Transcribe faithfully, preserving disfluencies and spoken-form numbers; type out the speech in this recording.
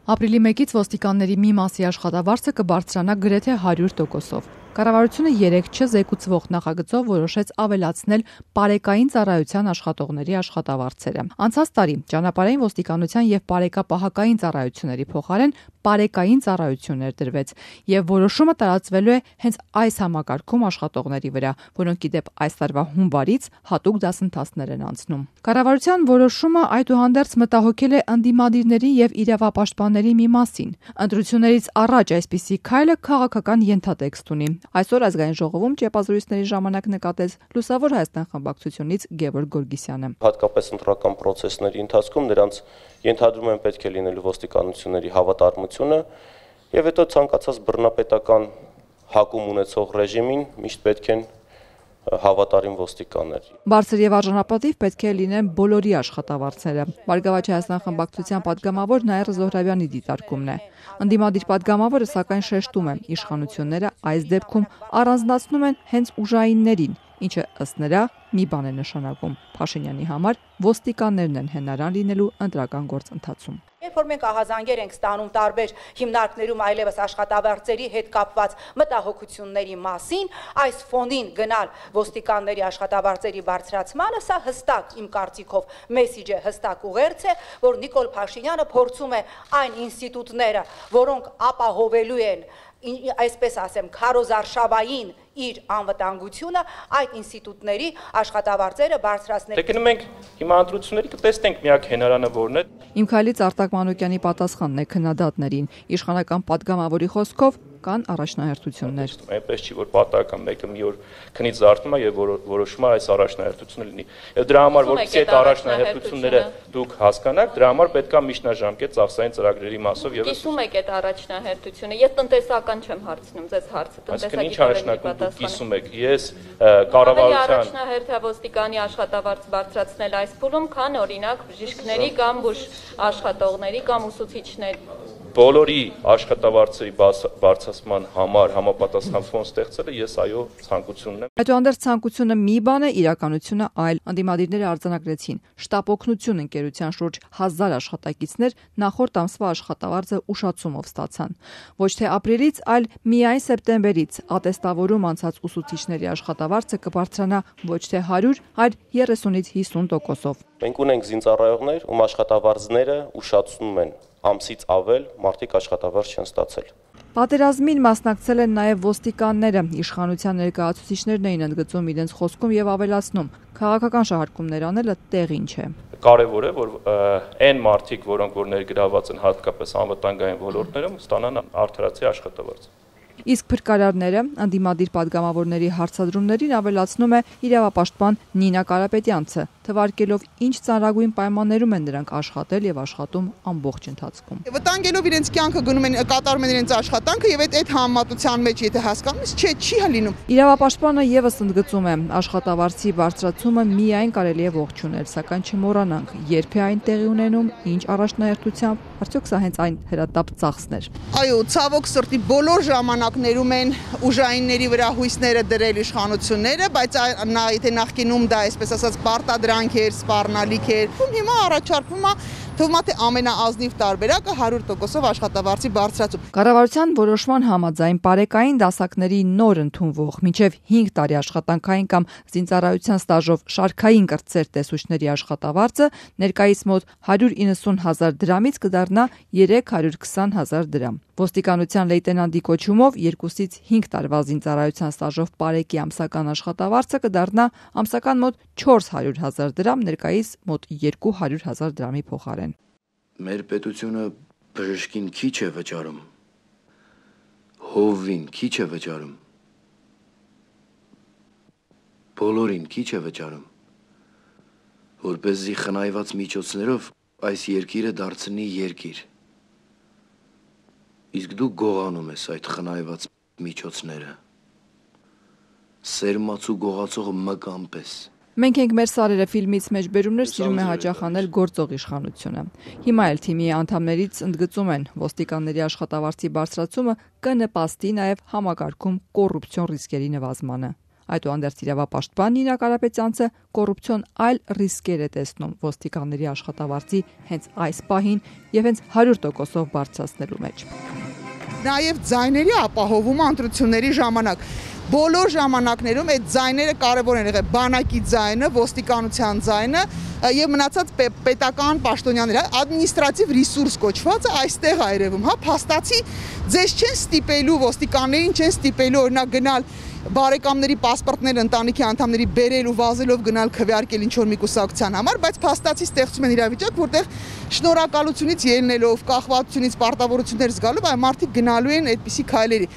Ապրիլի մեկից ոստիկանների մի մասի աշխատավարձը կբարձրանա գրեթե հարյուր տոկոսով։ Կառավարությունը երեկ չզեկուցվող նախագծով որոշեց ավելացնել պարեկային ծառայության աշխատողների աշխատավարձերը։ Անցած տարի ճանապարհային ոստիկանության եւ պարեկապահական ծառայությունների փոխարեն պարեկային ծառայություններ դրվեց, եւ որոշումը տարածվելու է հենց այս համակարգում աշխատողների վրա, որոնք ի դեպ այս տարվա հունվարից հատուկ դասընթացներ են անցնում։ Կառավարության որոշումը այդուհանդերձ մտահոգել է ընդդիմադիրների եւ իրավապաշտպանների մի մասին։ Ընտրություններից առաջ այսպիսի քայլը քաղաքական ենթատեքստ ունի։ Այսօր ազգային ժողովում ճեպազրույցների ժամանակ նկատեց Լուսավոր Հայաստան խմբակցությունից Գևորգ Գորգիսյանը։ Հատկապես ընտրական process-ների ընթացքում նրանց ենթադրում են պետք է լինելու ոստիկանությունների հավատարմությունը եւ հետո ցանկացած բռնապետական հակում ունեցող ռեժիմին միշտ պետք են հավատարիմ ոստիկաններ։ Բարձր եւ արժանապատիվ պետք է լինեն բոլորի աշխատավարձերը։ Բարգավաճ Հայաստան խմբակցության падգամավոր Նաիրա Զոհրաբյանի դիտարկումն է։ Ընդդիմադիր падգամավորը սակայն շեշտում է, իշխանությունները այս դեպքում առանձնացնում են հենց ուժայիններին, ինչը ըստ նրա մի բան է նշանակում. Փաշինյանի համար ոստիկաններն են հենարան լինելու ընտրական գործընթացում։ Երբ որ մենք ահազանգեր ենք ստանում տարբեր հիմնարկներում այլևս աշխատավարձերի հետ կապված մտահոգությունների մասին, այս ֆոնին գնալ ոստիկանների աշխատավարձերի բարձրացմանը, սա հստակ իմ կարծիքով մեսիջ է, հստակ ուղերձ է, որ Նիկոլ Փաշինյանը փորձում է այն ինստիտուտները, որոնք ապահովելու են, այսպես ասեմ, քարոզարշավային իր անվտանգությունը, այդ ինստիտուտների աշխատավարձերը բարձրացնել։ Դե գնում ենք հիմա ընտրությունների կտեսնենք միակ հենարանը որն է։ Իմ քայլից Արտակ Մանուկյանի պատասխանն է քննադատներին։ Իշխանական падգամավորի խոսքով կան առաջնահերթություններ։ Այնպես չի, որ պատահական մեկը մի օր քնից զարթնում է եւ որոշում է այս առաջնահերթությունը լինի։ Եվ դրա համար որպեսզի այդ առաջնահերթությունները դուք հասկանաք, դրա համար պետք է միջնաժամկետ ծախսային ծրագրերի մասով եւս։ Կիսում եք այդ առաջնահերթությունը։ Ես տնտեսական չեմ հարցնում, ձեզ հարցը տնտեսագիտական կիսում եք։ Ես կառավարության առաջնահերթ ոստիկանի աշխատավարձ բարձրացնել այս փուլում, քան օրինակ բժիշկների կամ բուժ աշխատողների կամ ուսուցիչների բոլորի աշխատավարձերի բարձրացման համար համապատասխան ֆոն ստեղծելը ես այո ցանկությունն եմ։ Այդուհանդերձ ցանկությունը մի բան է, իրականությունը այլ։ Ընդդիմադիրները արձանագրեցին շտապ օգնություն ընկերության շուրջ հազար աշխատակիցներ նախորդ ամսվա աշխատավարձը ուշացումով ստացան։ Ոչ թե ապրիլից, այլ միայն սեպտեմբերից ատեստավորում անցած ուսուցիչների աշխատավարձը կբարձրանա ոչ թե հարյուր, այլ երեսունից հիսուն տոկոսով։ Մենք ունենք զինծառայողներ, ում աշխատավարձները ուշացնում են ամսից ավել, մարդիկ աշխատավարձ չեն ստացել։ Պատերազմին մասնակցել են նաև ոստիկանները։ Իշխանության ներկայացուցիչներն էին ընդգծում իրենց խոսքում եւ ավելացնում. քաղաքական շահարկումներ անելը տեղին չէ։ Կարևոր է, որ այն մարդիկ, որոնք որ ներգրաված են հատկապես անվտանգային ոլորտներում, ստանան արդարացի աշխատավարձ։ Իսկ փրկարարները ընդդիմադիր падգամավորների հարցադրումներին ավելացնում է իրավապաշտպան Նինա Կարապետյանցը, թվարկելով ինչ ծանրագույն պայմաններում են նրանք աշխատել եւ աշխատում ամբողջ ընթացքում։ Վտանգելով իրենց կյանքը գնում են, կատարում են իրենց աշխատանքը եւ այդ այդ համեմատության մեջ եթե հասկանում ես, չէ, չի լինում։ Իրավապաշտպանը եւս ընդգծում է, աշխատավարձի բարձրացումը միայն կարելի է ողջունել, սակայն չմոռանանք, երբ է այն տեղի ունենում, ինչ առաջնահերթությամբ, արդյոք սա հենց այն հրատապ ծախսներ։ Այո, ցավոք սրտի բոլոր ժամանակներում են ուժայինների վրա հույսները դրել իշխանությունները, բայց նա եթե նախկինում դա այսպես ասած պարտադրանք էր, սպառնալիք էր, հիմա առաջարկվում է թվում է թե ամենաազնիվ տարբերակը հարյուր տոկոսով աշխատավարձի բարձրացում։ Կառավարության որոշման համաձայն պարեկային դասակների նոր ընդունվող մինչև հինգ տարի աշխատանքային կամ զինծառայության ստաժով շարքային կրտսեր տեսուչների աշխատավարձը ներկայիս մոտ հարյուր իննսուն հազար դրամից կդառնա երեք հարյուր քսան հազար դրամ։ Ոստիկանության լեյտենանտի կոչումով երկուսից հինգ տարվա զինծառայության ստաժով պարեկի ամսական աշխատավարձը կդառնա ամսական մոտ չորս հարյուր հազար դրամ, ներկայիս մոտ երկու հարյուր հազար դրամի փոխարեն։ Մեր պետությունը բժշկին քիչ է վճարում, հովվին քիչ է վճարում, բոլորին քիչ է վճարում, որպեսզի խնայված միջոցներով այս երկիրը դարձնի երկիր։ Իսկ դու գողանում ես այդ խնայված միջոցները, սերմաց ու գողացող մկան պես։ Մենք ենք մեր սարերը ֆիլմից մեջ բերումներ սիրում է հաճախ անել գործող իշխանությունը։ Հիմա էլ թիմի անդամներից ընդգծում են, ոստիկանների աշխատավարձի բարձրացումը կնպաստի նաև համակարգում կոռուպցիոն ռիսկերի նվազմանը։ Այդուհանդերձ իրավապաշտպան Նինա Կարապետյանցը կոռուպցիոն այլ ռիսկեր է տեսնում ոստիկանների աշխատավարձի հենց այս պահին եւ հենց հարյուր տոկոսով բարձրացնելու մեջ։ Նաև ձայների ապահովումը ընտրությունների ժամանակ։ Բոլոր ժամանակներում այդ ձայները կարևոր են եղել, բանակի ձայնը, ոստիկանության ձայնը եւ մնացած պետական պաշտոնյաները, ադմինիստրատիվ ռեսուրս կոչվածը այստեղ է երևում, հա, փաստացի ձեզ չեն ստիպելու ոստիկաններին չեն ստիպելու օրինակ գնալ բարեկամների պասպորտները ընտանիքի անդամների բերել ու վազելով գնալ քվեարկել ինչ որ մի կուսակցության համար, բայց փաստացի ստեղծում են իրավիճակ, որտեղ շնորհակալությունից ելնելով, կախվածությունից, պարտավորություններ զգալով այ մարդիկ գնալու են այդպիսի քայլերի։